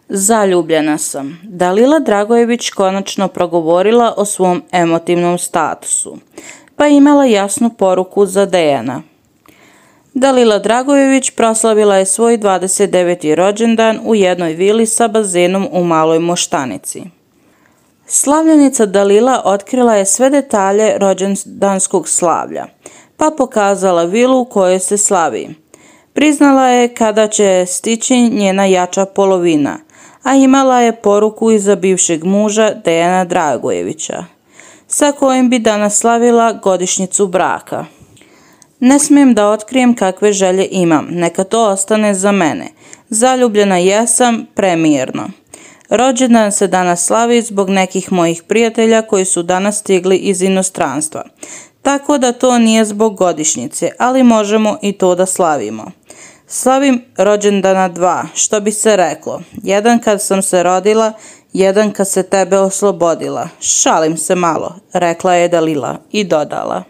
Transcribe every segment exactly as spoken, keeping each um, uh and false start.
Zaljubljena sam. Dalila Dragojević konačno progovorila o svom emotivnom statusu, pa imala jasnu poruku za Dejana. Dalila Dragojević proslavila je svoj dvadeset deveti rođendan u jednoj vili sa bazenom u Maloj Moštanici. Slavljenica Dalila otkrila je sve detalje rođendanskog slavlja, pa pokazala vilu u kojoj se slavi. Priznala je kada će stići njena jača polovina, a imala je poruku iza bivšeg muža Dejana Dragojevića, sa kojim bi danas slavila godišnjicu braka. Ne smijem da otkrijem kakve želje imam, neka to ostane za mene. Zaljubljena jesam premirno. Rođendan se danas slavi zbog nekih mojih prijatelja koji su danas stigli iz inostranstva, tako da to nije zbog godišnjice, ali možemo i to da slavimo. Slavim rođendana dva, što bi se reklo, jedan kad sam se rodila, jedan kad se tebe oslobodila. Šalim se malo, rekla je Dalila i dodala.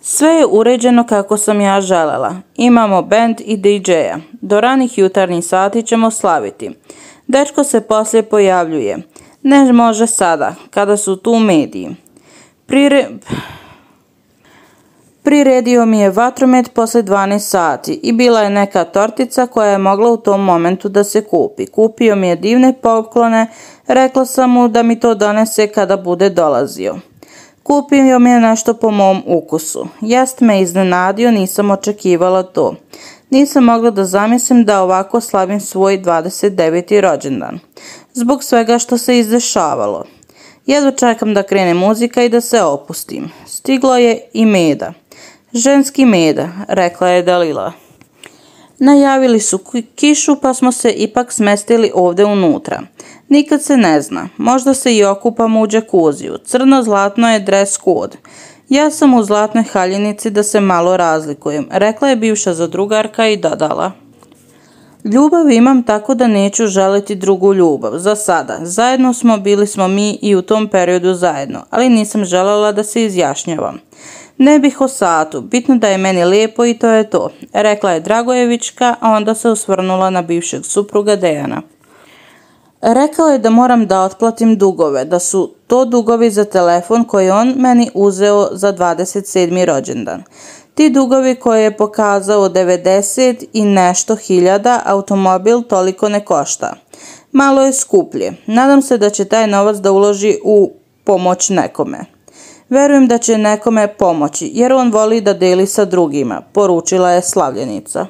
Sve je uređeno kako sam ja želela. Imamo bend i didžeja. Do ranih jutarnjih sati ćemo slaviti. Dečko se poslije pojavljuje. Ne može sada, kada su tu mediji. Prire... Priredio mi je vatromet posle dvanaest sati i bila je neka tortica koja je mogla u tom momentu da se kupi. Kupio mi je divne poklone, rekla sam mu da mi to donese kada bude dolazio. Kupio mi je nešto po mom ukusu. Jest me iznenadio, nisam očekivala to. Nisam mogla da zamislim da ovako slavim svoj dvadeset deveti rođendan. Zbog svega što se izdešavalo. Jedva čekam da krene muzika i da se opustim. Stiglo je i meda. Ženski meda, rekla je Dalila. Najavili su kišu pa smo se ipak smestili ovde unutra. Nikad se ne zna, možda se i okupamo u džakuziju. Crno-zlatno je dress code. Ja sam u zlatnoj haljinici da se malo razlikujem, rekla je bivša zadrugarka i dodala. Ljubav imam tako da neću želiti drugu ljubav, za sada. Zajedno smo, bili smo mi i u tom periodu zajedno, ali nisam želela da se izjašnjavam. Ne bih o satu, bitno da je meni lijepo i to je to, rekla je Dragojevićka, a onda se osvrnula na bivšeg supruga Dejana. Rekao je da moram da otplatim dugove, da su to dugovi za telefon koji on meni uzeo za dvadeset sedmi rođendan. Ti dugovi koje je pokazao devedeset i nešto hiljada, automobil toliko ne košta. Malo je skuplje. Nadam se da će taj novac da uloži u pomoć nekome. Verujem da će nekome pomoći, jer on voli da deli sa drugima, poručila je slavljenica.